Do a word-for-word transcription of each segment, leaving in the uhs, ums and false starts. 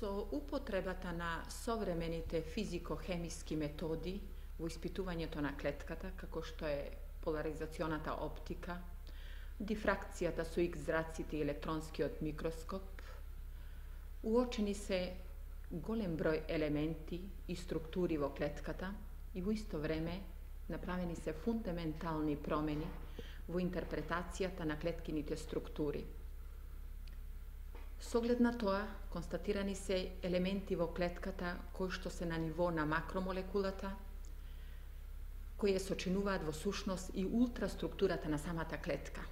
Со употребата на современите физико-хемиски методи во испитувањето на клетката, како што е поларизационата оптика, дифракцијата со икс зраците и електронскиот микроскоп, уочени се голем број елементи и структури во клетката и во исто време направени се фундаментални промени во интерпретацијата на клеткините структури. Со оглед на тоа, констатирани се елементи во клетката кои што се на ниво на макромолекулата, кои ја сочинуваат во сушност и ултраструктурата на самата клетка.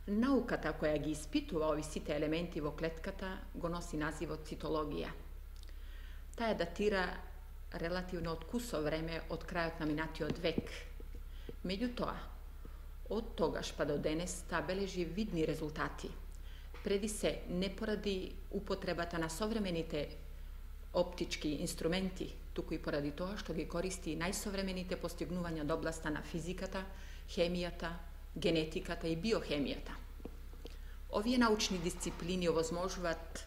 Науката која ги испитува ови сите елементи во клетката го носи називот цитологија. Таа датира релативно од кусо време од крајот на минатиот век. Меѓутоа, од тогаш па до денес таа бележи видни резултати. Преди се, не поради употребата на современите оптички инструменти, туку и поради тоа што ги користи најсовремените постигнувања од областа на физиката, хемијата, генетиката и биохемијата. Овие научни дисциплини овозможуваат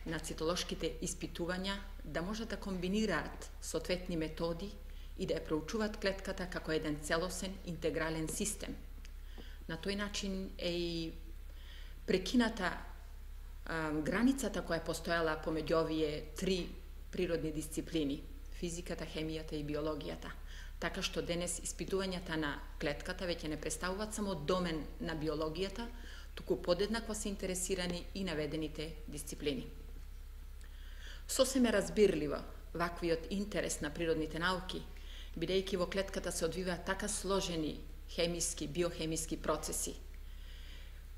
на цитолошките испитувања да можат да комбинираат соодветни методи и да ја проучуваат клетката како еден целосен, интегрален систем. На тој начин е и прекината а, границата која постоела помеѓу овие три природни дисциплини – физиката, хемијата и биологијата. Така што денес испитувањата на клетката веќе не представуваат само домен на биологијата, туку подеднакво се интересирани и наведените дисциплини. Сосеме разбирливо ваквиот интерес на природните науки, бидејќи во клетката се одвиваат така сложени хемиски, биохемиски процеси,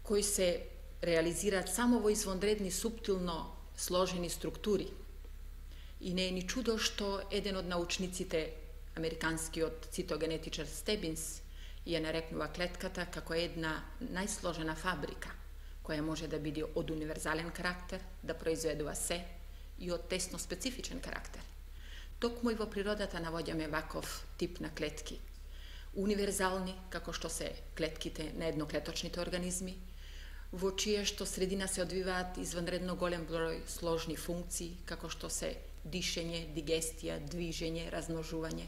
кои се реализираат само во извонредни суптилно сложени структури. И не е ни чудо што еден од научниците, американскиот цитогенетичар Стебинс, ја нарекнува клетката како една најсложена фабрика, која може да биде од универзален карактер, да произведува се, и од тесно специфичен карактер. Токму и во природата навоѓаме ваков тип на клетки. Универзални, како што се клетките на едноклеточните организми, во чија што средина се одвиваат извънредно голем број сложни функции, како што се дишење, дигестија, движење, размножување,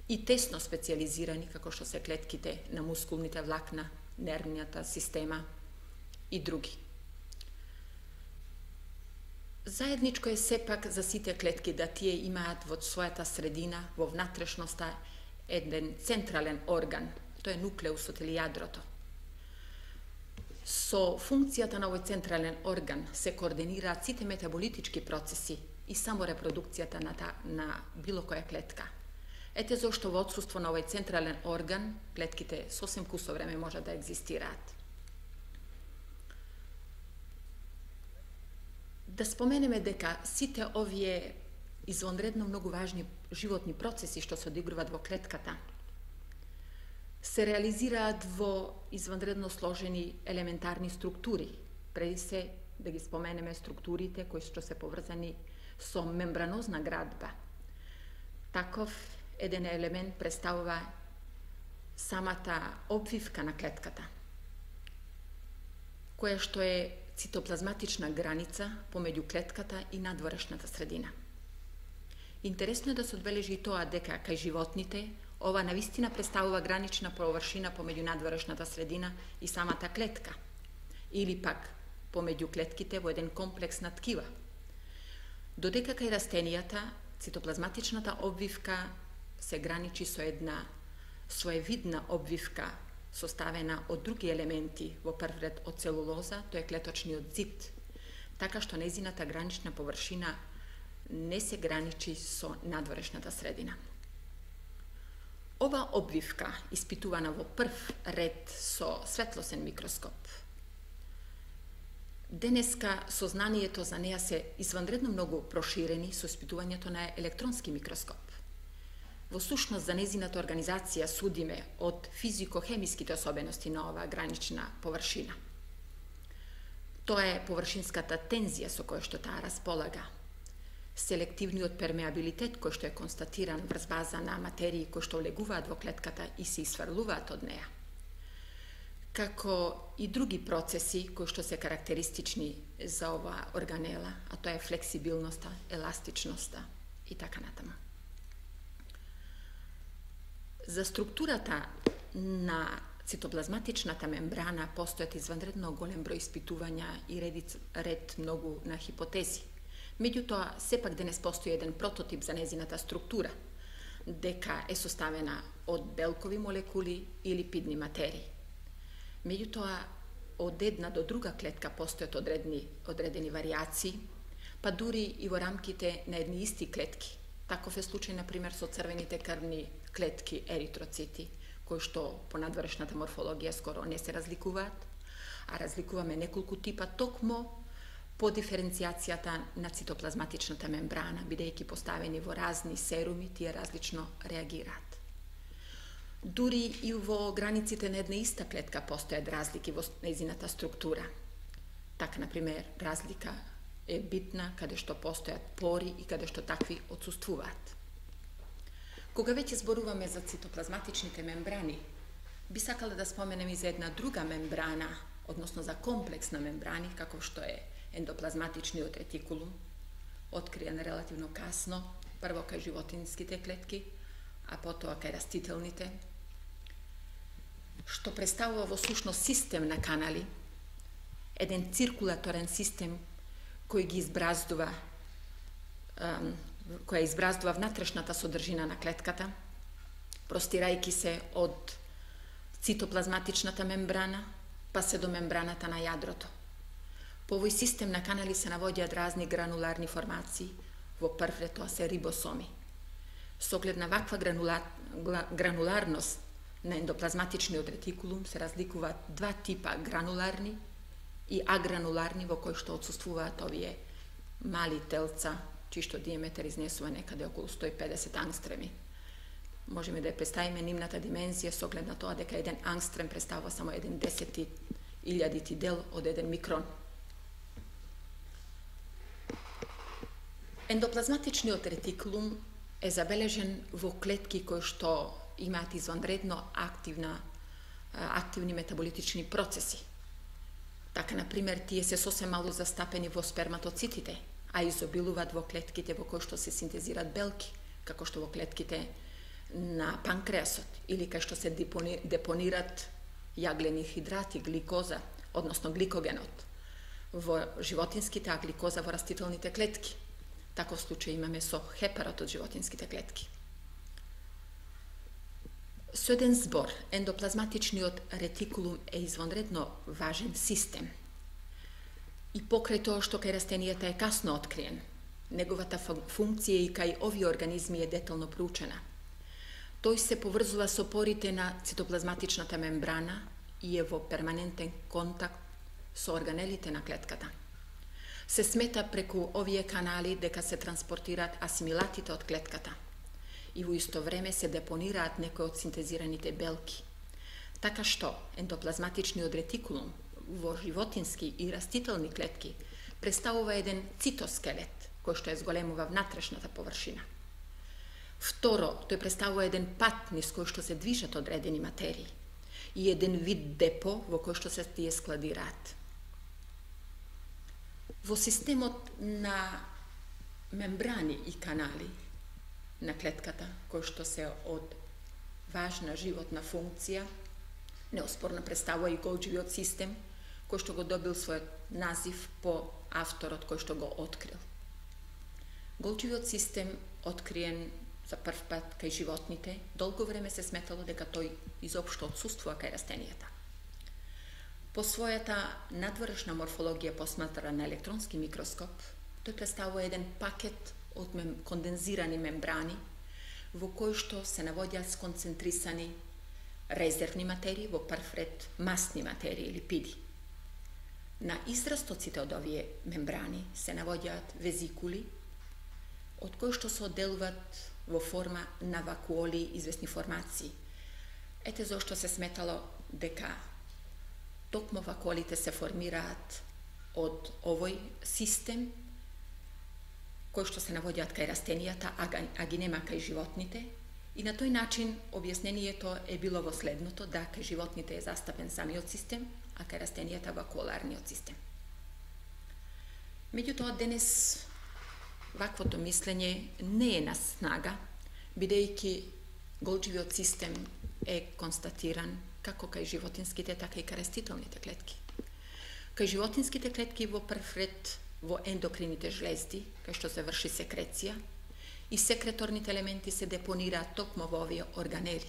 и тесно специализирани, како што се клетките на мускулните влакна, нервната система и други. Заедничко е сепак за сите клетки да тие имаат во својата средина, во внатрешноста, еден централен орган, тоа е нуклеусот или јадрото. Со функцијата на овој централен орган се координираат сите метаболитички процеси и само репродукцијата на, та, на било која клетка. Ете зошто во отсуство на овој централен орган, клетките сосем кусо време може да екзистираат. Да споменеме дека сите овие извонредно многу важни животни процеси што се одигруваат во клетката се реализираат во извънредно сложени елементарни структури. Преди се да ги споменеме структурите кои што се поврзани со мембранозна градба. Таков еден елемент представува самата обвивка на клетката, која што е цитоплазматична граница помеѓу клетката и надворешната средина. Интересно е да се одбележи и тоа дека кај животните ова навистина представува гранична површина помеѓу надворешната средина и самата клетка, или пак помеѓу клетките во еден комплекс на ткива. Додека кај растенијата цитоплазматичната обвивка се граничи со една своевидна обвивка составена од други елементи, во прв ред од целулоза, тоа е клеточниот зид, така што незината гранична површина не се граничи со надворешната средина. Ова обвивка, испитувана во прв ред со светлосен микроскоп, денеска сознанието за неа се извънредно многу проширени со испитувањето на електронски микроскоп. Во сушност за незината организација судиме од физико-хемиските особености на оваа гранична површина. Тоа е површинската тензија со која што таа располага, селективниот пермеабилитет кој што е констатиран врз база на материи кои што влегуваат во клетката и се исфрлуваат од неа, како и други процеси кои што се карактеристични за ова органела, а тоа е флексибилноста, еластичноста и така натаму. За структурата на цитоплазматичната мембрана постојат изванредно голем број испитувања и ред, ред многу на хипотези. Меѓутоа, сепак денес постои еден прототип за незината структура, дека е составена од белкови молекули или липидни материи. Меѓутоа, од една до друга клетка постојат одредени, одредени варијации, па дури и во рамките на едни исти клетки. Таков е случај, например, со црвените крвни клетки еритроцити, кои што по надворешната морфологија скоро не се разликуваат, а разликуваме неколку типа токмо по диференцијацијата на цитоплазматичната мембрана, бидејќи поставени во разни серуми, тие различно реагираат. Дури и во границите на една иста клетка постојат разлики во нејзината структура. Така, например, разлика е битна каде што постојат пори и каде што такви отсуствуваат. Кога веќе зборуваме за цитоплазматичните мембрани, би сакала да споменем и за една друга мембрана, односно за комплекс на мембрани, како што е ендоплазматичниот ретикулум, откриен релативно касно, прво кај животинските клетки, а потоа кај растителните, што представува во сушност систем на канали, еден циркулаторен систем кој ги избраздува, која избраздува внатрешната содржина на клетката, простирајќи се од цитоплазматичната мембрана, па се до мембраната на јадрото. По овој систем на канали се навоѓаат разни грануларни формации, во прв ред тоа се рибосоми. Со оглед на ваква гранулар, грануларност на ендоплазматичниот ретикулум се разликуваат два типа грануларни и агрануларни, во кои што отсуствуваат овие мали телца, чишто диаметар изнесува некаде околу сто и педесет ангстреми. Можеме да ја представиме нивната димензија со оглед на тоа дека еден ангстрем представува само еден десети илјадити дел од еден микрон. Ендоплазматичниот ретикулум е забележен во клетки кои што имаат извонредно активна, активни метаболитични процеси. Така, например, тие се сосем мало застапени во сперматоцитите, а изобилуваат во клетките во кои што се синтезираат белки, како што во клетките на панкреасот, или кај што се депонират јаглени хидрати, гликоза, односно гликогенот, во животинските, а гликоза во растителните клетки. Таков случај имаме со хепарот од животинските клетки. Со еден збор, ендоплазматичниот ретикулум е извонредно важен систем. И покрај тоа што кај растенијата е касно откриен, неговата функција и кај овие организми е детално проучена. Тој се поврзува со порите на цитоплазматичната мембрана и е во перманентен контакт со органелите на клетката. Се смета преку овие канали дека се транспортираат асимилатите од клетката и во исто време се депонираат некои од синтезираните белки. Така што ендоплазматичниот ретикулум во животински и растителни клетки представува еден цитоскелет, кој што е зголемува внатрешната површина. Второ, тој представува еден пат низ кој што се движат одредени материи и еден вид депо во кој што се тие складираат. Во системот на мембрани и канали на клетката, кој што се од важна животна функција, неоспорно представува и Голџивиот систем, кој што го добил својот назив по авторот кој што го открил. Голџивиот систем откриен за прв пат кај животните, долго време се сметало дека тој изопшто отсуствува кај растенијата. По својата надворешна морфологија посматрана на електронски микроскоп, тој представува еден пакет од мем, кондензирани мембрани во кои што се навоѓаат сконцентрисани резервни материи, во прв ред масни материи, липиди. На израстоците од овие мембрани се навоѓаат везикули, од кои што се одделуваат во форма на вакуоли известни формации. Ете зошто се сметало дека токму вакуолите се формираат од овој систем, кој што се навоѓаат кај растенијата, а ги нема кај животните, И на тој начин објаснението е било во следното, да кај животните е застапен самиот систем, а кај растенијата вакуоларниот систем. Меѓутоа, денес ваквото мислење не е на снага, бидејќи голџивиот систем е констатиран како кај животинските, така и кај растителните клетки. Кај животинските клетки во прв ред во ендокрините жлезди, кај што се врши секреција, и секреторните елементи се депонираат токму во овие органели.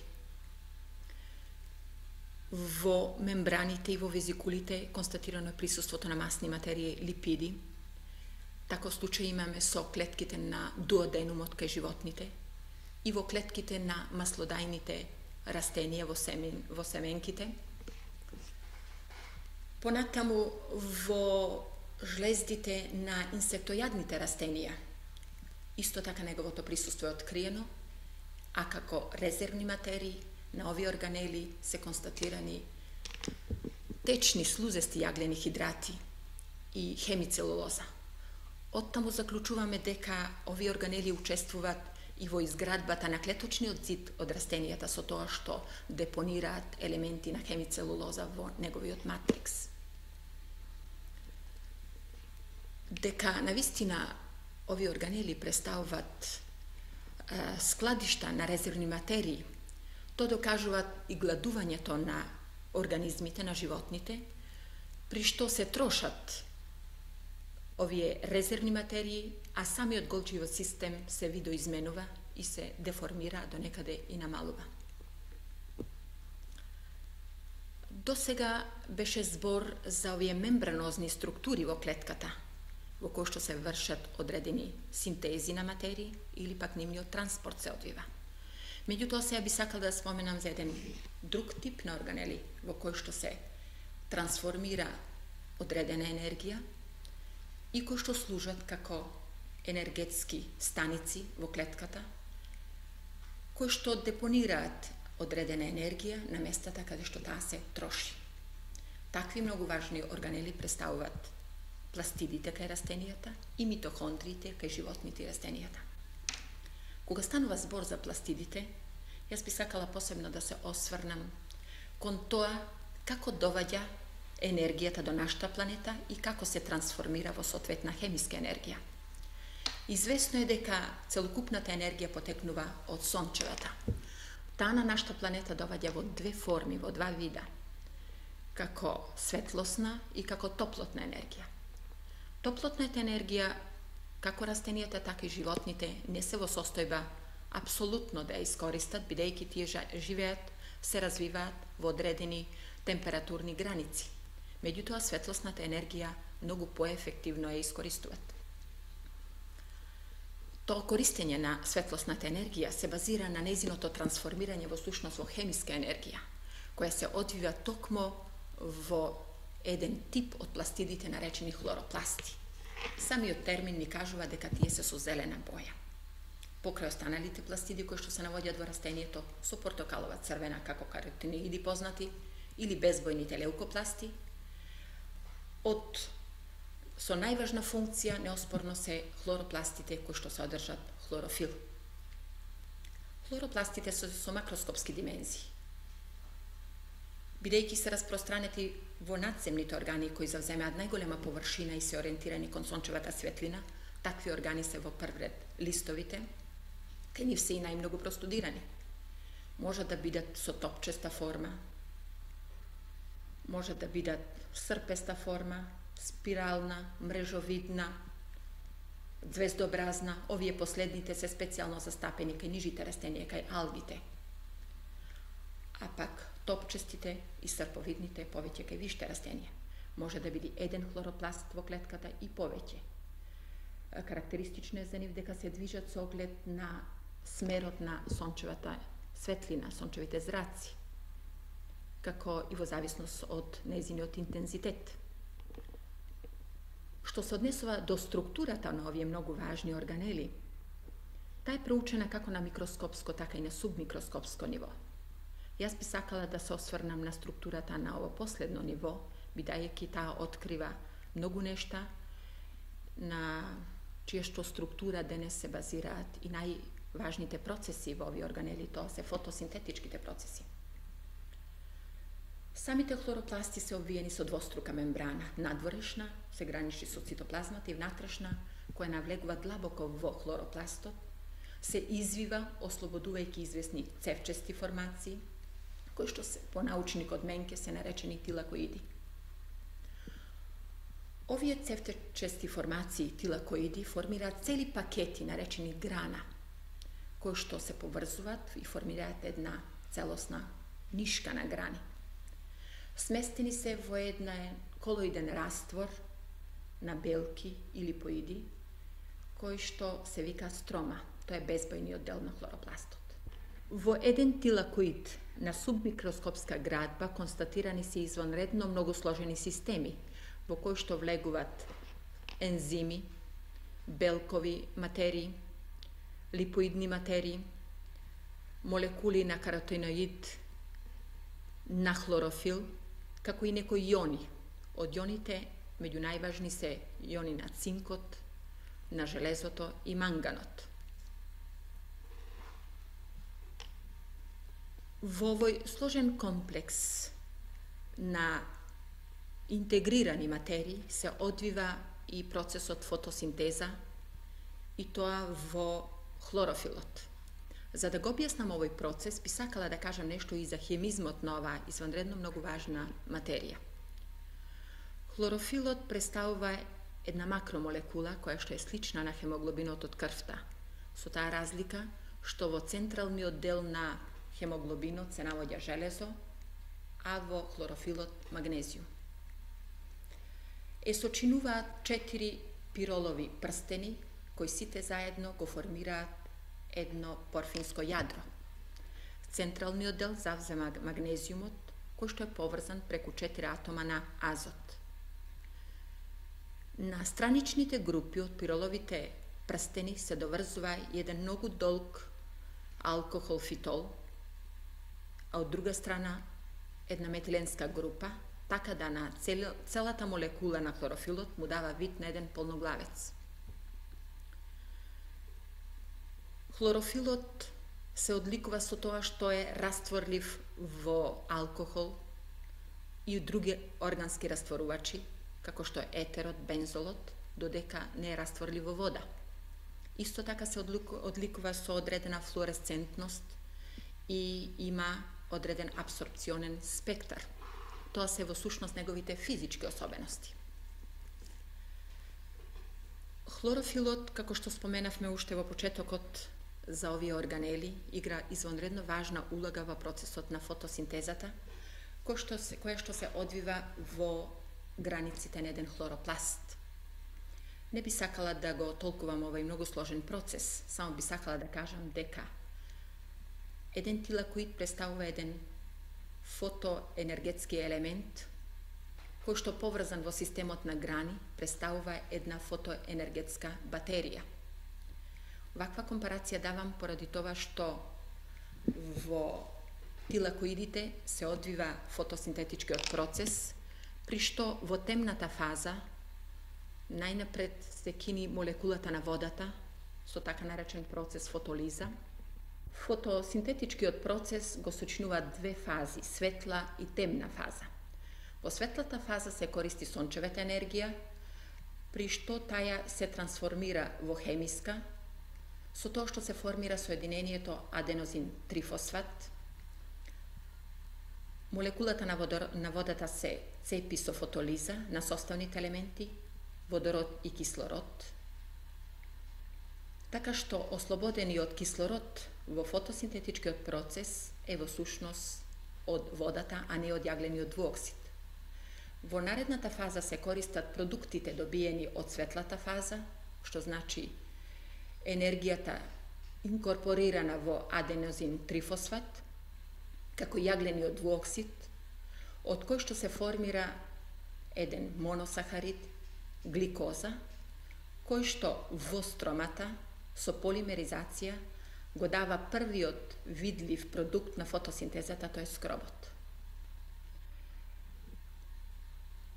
Во мембраните и во везикулите констатирано е присуството на масни материи, липиди. Таков случај имаме со клетките на дуоденумот кај животните и во клетките на маслодајните растенија во, семен, во семенките. Понатаму во жлездите на инсектојадните растенија, исто така неговото присуство е откриено, а како резервни материи на овие органели се констатирани течни слузести јаглени хидрати и хемицелулоза. Оттаму заклучуваме дека овие органели учествуваат и во изградбата на клеточниот зид од растенијата со тоа што депонираат елементи на хемицелулоза во неговиот матрикс. Дека навистина овие органели представуваат е, складишта на резервни материи, тоа докажуваат и гладувањето на организмите, на животните, при што се трошат овие резервни материи, а самиот голџивиот систем се видоизменува и се деформира, до некаде и намалува. До сега беше збор за овие мембранозни структури во клетката, во кои што се вршат одредени синтези на материи или пак нивниот транспорт се одвива. Меѓутоа, сега би сакал да споменам за еден друг тип на органели во кој што се трансформира одредена енергија и кои што служат како енергетски станици во клетката, кои што депонираат одредена енергија на местата каде што таа се троши. Такви многу важни органели представуваат пластидите кај растенијата и митохондриите кај животните и растенијата. Кога станува збор за пластидите, јас би сакала посебно да се осврнам кон тоа како доваѓа енергијата до нашата планета и како се трансформира во соодветна хемиска енергија. Известно е дека целокупната енергија потекнува од сончевата. Таа на нашата планета доваѓа во две форми, во два вида, како светлосна и како топлотна енергија. Топлотната енергија, како растенијата, така и животните, не се во состојба апсолутно да ја искористат, бидејќи тие живеат, се развиваат во одредени температурни граници. Меѓутоа, светлосната енергија многу поефективно ја искористуваат. Тоа користење на светлосната енергија се базира на нејзиното трансформирање во сушност во хемиска енергија, која се одвива токму во еден тип од пластидите наречени хлоропласти. Самиот термин ни кажува дека тие се со зелена боја. Покрај останалите пластиди кои што се наоѓаат во растението со портокалова црвена како каротиноиди познати или безбојните леукопласти, од со најважна функција неоспорно се хлоропластите кои што содржат хлорофил. Хлоропластите се со макроскопски димензии. Бидејќи се распространети во надземните органи кои завземаат најголема површина и се ориентирани кон сончевата светлина, такви органи се во прв ред листовите, кај нив се и најмногу простудирани. Може да бидат со топчеста форма, може да бидат српеста форма, спирална, мрежовидна, звездообразна. Овие последните се специјално застапени кај нижите растенија, кај алгите. А пак топчестите и срповидните повеќе кај виште растенија. Може да биде еден хлоропласт во клетката и повеќе. Карактеристично е за нив дека се движат со оглед на смерот на сончевата светлина, сончевите зраци, како и во зависност од нејзиниот интензитет. Што се однесува до структурата на овие многу важни органели, таа е проучена како на микроскопско, така и на субмикроскопско ниво. Јас би сакала да се осврнам на структурата на ово последно ниво, бидејќи таа открива многу нешта на чија што структура денес се базираат и нај важните процеси во овие органели, тоа се фотосинтетичките процеси. Самите хлоропласти се обвиени со двострука мембрана, надворешна, се граничи со цитоплазмата, и внатрешна, која навлегува длабоко во хлоропластот, се извива, ослободувајќи известни цевчести формации, кои што се, по научникот Менке се наречени тилакоиди. Овие цевчести формации, тилакоиди, формираат цели пакети наречени грана, кои што се поврзуваат и формираат една целосна нишка на грани. Сместени се во еден колоиден раствор на белки или липоиди, кои што се вика строма. Тоа е безбојниот дел на хлоропластот. Во еден тилакоид на субмикроскопска градба констатирани се извонредно многу сложени системи, во кои што влегуваат ензими, белкови материи, липоидни материи, молекули на каротиноид, на хлорофил, како и некои иони. Од ионите, меѓу најважни се иони на цинкот, на железото и манганот. Во овој сложен комплекс на интегрирани материи се одвива и процесот фотосинтеза, и тоа во хлорофилот. За да го објаснам овој процес, би сакала да кажам нешто и за хемизмот на оваа извонредно многу важна материја. Хлорофилот представува една макромолекула која што е слична на хемоглобинот од крвта, со таа разлика што во централниот дел на хемоглобинот се наоѓа железо, а во хлорофилот магнезиум. Е сочинуваат четири пиролови прстени, кои сите заедно го формираат едно порфинско јадро. Централниот дел завзема магнезиумот, кој што е поврзан преку четири атома на азот. На страничните групи од пироловите прстени се доврзува еден многу долг алкохол фитол, а од друга страна една метиленска група, така да на цел, целата молекула на хлорофилот му дава вид на еден полноглавец. Хлорофилот се одликува со тоа што е растворлив во алкохол и други органски растворувачи, како што е етерот, бензолот, додека не е растворлив во вода. Исто така се одликува со одредена флуоресцентност и има одреден апсорбционен спектар. Тоа се во сушност неговите физички особености. Хлорофилот, како што споменавме уште во почетокот за овие органели, игра извонредно важна улога во процесот на фотосинтезата, која што се, која што се одвива во границите на еден хлоропласт. Не би сакала да го толкувам овој многу сложен процес, само би сакала да кажам дека еден тилакоид представува еден фотоенергетски елемент, кој што поврзан во системот на грани представува една фотоенергетска батерија. Ваква компарација давам поради тоа што во тилакоидите се одвива фотосинтетичкиот процес, при што во темната фаза најнапред се кини молекулата на водата со така наречен процес фотолиза. Фотосинтетичкиот процес го сочинува две фази, светла и темна фаза. Во светлата фаза се користи сончевата енергија, при што таја се трансформира во хемиска, со тоа што се формира соединението аденозин трифосфат. Молекулата на, водор, на водата се цепи со фотолиза на составните елементи, водород и кислород, така што ослободени од кислород во фотосинтетичкиот процес е во сушност од водата, а не од јаглениот двуоксид. Во наредната фаза се користат продуктите добиени од светлата фаза, што значи енергијата инкорпорирана во аденозин трифосфат, како јаглениот двуоксид, од кој што се формира еден моносахарид, гликоза, кој што во стромата со полимеризација го дава првиот видлив продукт на фотосинтезата, тој е скробот.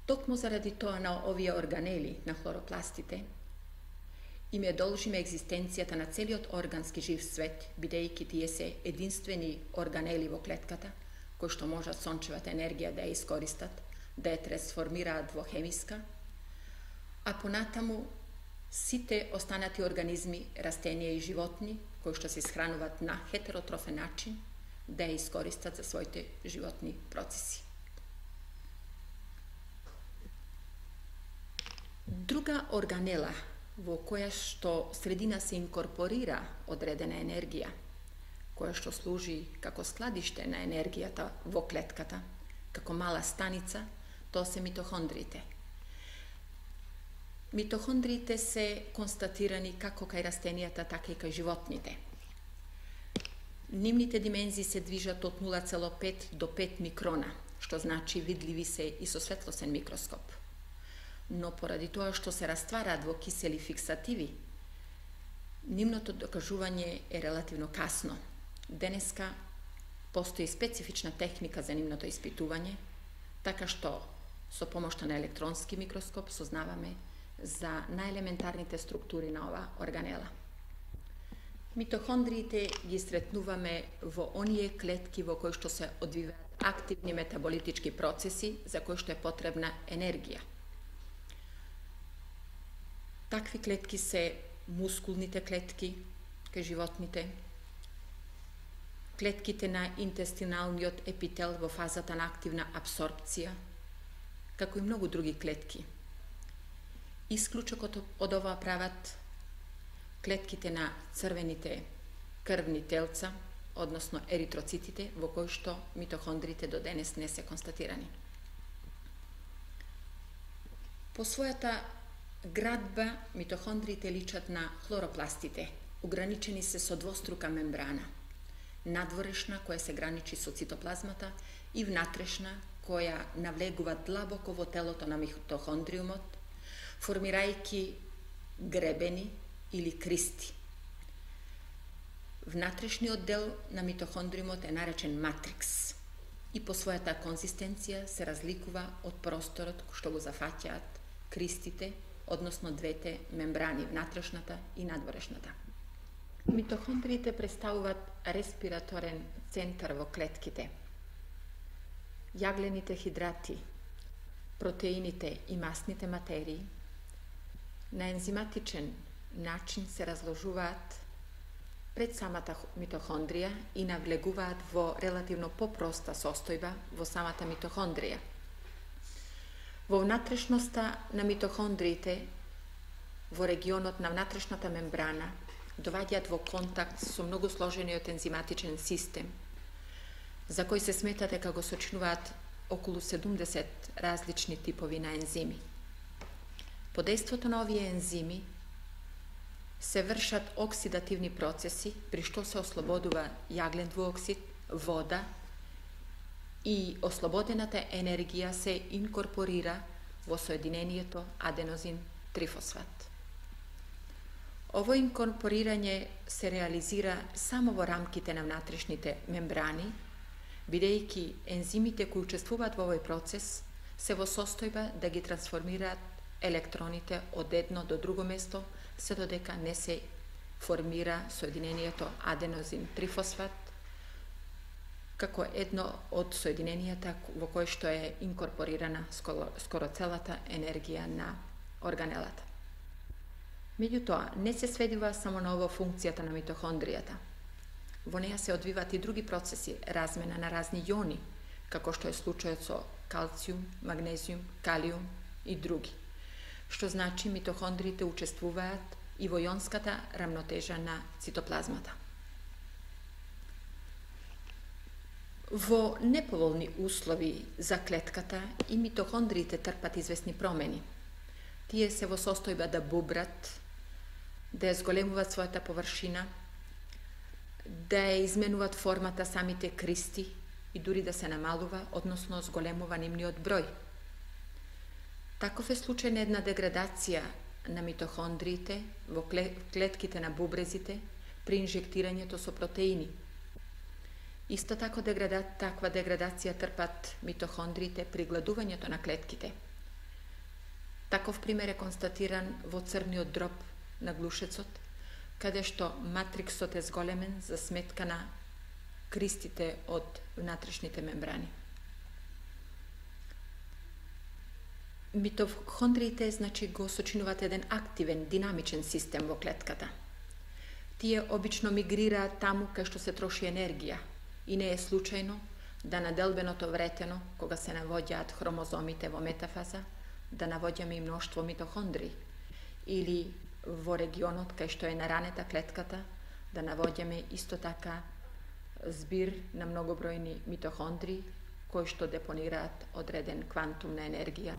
Токму заради тоа на овие органели на хлоропластите им е должиме екзистенцијата на целиот органски жив свет, бидејќи тие се единствени органели во клетката, кои што можат сончевата енергија да ја искористат, да ја трансформираат во хемиска, а понатаму сите останати организми, растенија и животни, кои што се исхрануваат на хетеротрофен начин, да ја искористат за своите животни процеси. Друга органела во која што средина се инкорпорира одредена енергија, која што служи како складиште на енергијата во клетката, како мала станица, тоа се митохондриите. Митохондриите се констатирани како кај растенијата, така и кај животните. Нивните димензии се движат од нула цело пет до пет микрона, што значи видливи се и со светлосен микроскоп. Но поради тоа што се раствараат во кисели фиксативи, нивното докажување е релативно касно. Денеска постои специфична техника за нивното испитување, така што со помошта на електронски микроскоп сознаваме за најелементарните структури на ова органела. Митохондриите ги сретнуваме во оние клетки во кои што се одвиваат активни метаболитички процеси за кои што е потребна енергија. Такви клетки се мускулните клетки кај животните, клетките на интестиналниот епител во фазата на активна абсорбција, како и многу други клетки. Исклучокот од ова прават клетките на црвените крвни телца, односно еритроцитите, во кои што митохондриите до денес не се констатирани. По својата градба, митохондриите личат на хлоропластите, ограничени се со двострука мембрана, надворешна која се граничи со цитоплазмата и внатрешна која навлегува длабоко во телото на митохондриумот, формирајќи гребени или кристи. Внатрешниот дел на митохондриумот е наречен матрикс и по својата конзистенција се разликува од просторот што го зафаќаат кристите, односно двете мембрани, внатрешната и надворешната. Митохондриите представуваат респираторен центар во клетките. Јаглените хидрати, протеините и масните материи на ензиматичен начин се разложуваат пред самата митохондрија и навлегуваат во релативно попроста состојба во самата митохондрија. Во внатрешноста на митохондриите, во регионот на внатрешната мембрана, доваѓаат во контакт со многу сложениот ензиматичен систем, за кој се смета дека го сочинуваат околу седумдесет различни типови на ензими. По дејството на овие ензими се вршат оксидативни процеси, при што се ослободува јаглен двуоксид, вода и ослободената енергија се инкорпорира во соединението аденозин трифосфат. Ово инкорпорирање се реализира само во рамките на внатрешните мембрани, бидејќи ензимите кои учествуваат во овој процес се во состојба да ги трансформираат електроните од едно до друго место, се додека не се формира соединението аденозин трифосфат како едно од соединенијата во кој што е инкорпорирана скоро, скоро целата енергија на органелата. Меѓутоа, не се сведува само на ово функцијата на митохондријата. Во неја се одвиваат и други процеси, размена на разни јони, како што е случајот со калциум, магнезиум, калиум и други, што значи митохондриите учествуваат и во јонската рамнотежа на цитоплазмата. Во неповолни услови за клетката и митохондриите трпат известни промени. Тие се во состојба да бубрат, да ја зголемуваат својата површина, да ја изменуваат формата самите кристи и дури да се намалува, односно зголемува нивниот број. Таков е случај на една деградација на митохондриите во клетките на бубрезите при инжектирањето со протеини. Исто тако деграда, таква деградација трпат митохондриите при гладувањето на клетките. Таков пример е констатиран во црниот дроб на глушецот, каде што матриксот е зголемен за сметка на кристите од внатрешните мембрани. Митохондриите, значи, го сочинуваат еден активен, динамичен систем во клетката. Тие обично мигрираат таму кај што се троши енергија и не е случајно да на делбеното вретено, кога се навоѓаат хромозомите во метафаза, да навоѓаме и мноштво митохондри, или во регионот кај што е наранета клетката, да навоѓаме исто така збир на многобројни митохондри кои што депонираат одреден квантум на енергија.